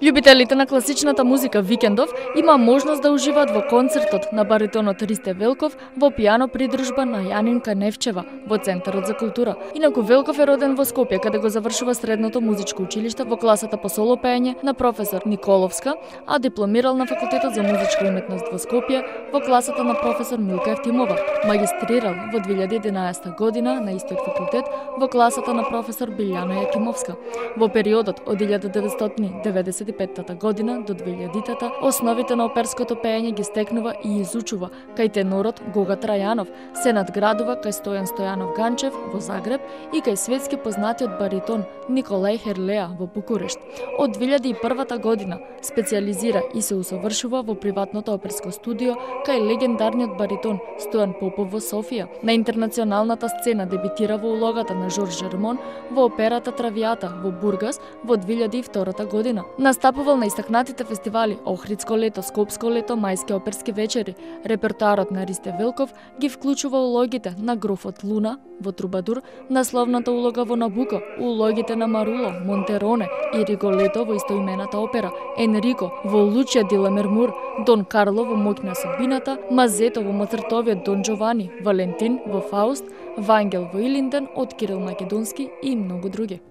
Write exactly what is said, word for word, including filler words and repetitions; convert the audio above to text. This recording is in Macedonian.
Љубителите на класичната музика викендов има можност да уживаат во концертот на баритонот Ристе Велков во пијано придружба на Јанинка Невчева во Центарот за култура. Инаку Велков е роден во Скопје, каде го завршува средното музичко училиште во класата по соло пеење на професор Николовска, а дипломирал на Факултетот за музичка уметност во Скопје во класата на професор Милка Евтимова. Магистрирал во две илјади и единаесета година на истиот факултет во класата на професор Билјана Јакимовска. Во периодот од илјада деветстотини и деветдесет и петта година до две илјадитата основите на оперското пеење ги стекнува и изучува кај тенорот Гога Трајанов, се надградува кај Стојан Стојанов Ганчев во Загреб и кај светски познатиот баритон Николај Херлеа во Букурешт. Од две илјади и првата година специјализира и се усовршува во приватното оперско студио кај легендарниот баритон Стојан Попов во Софија. На интернационалната сцена дебитира во улогата на Жорж Жермон во операта Травијата во Бургас во две илјади и втора година. Настапувал на истакнатите фестивали Охридско лето, Скопско лето, Мајски оперски вечери. Репертоарот на Ристе Велков ги вклучува улогите на Грофот Луна во Трубадур, насловната улога во Набуко, улогите на Маруло, Монтероне и Риголето во истоимената опера, Енрико во Лучија ди Ламермур, Дон Карло во Моќ на судбината, Мазето во Моцартовиот Дон Джовани, Валентин во Фауст, Вангел во Илинден од Кирил Македонски и многу други.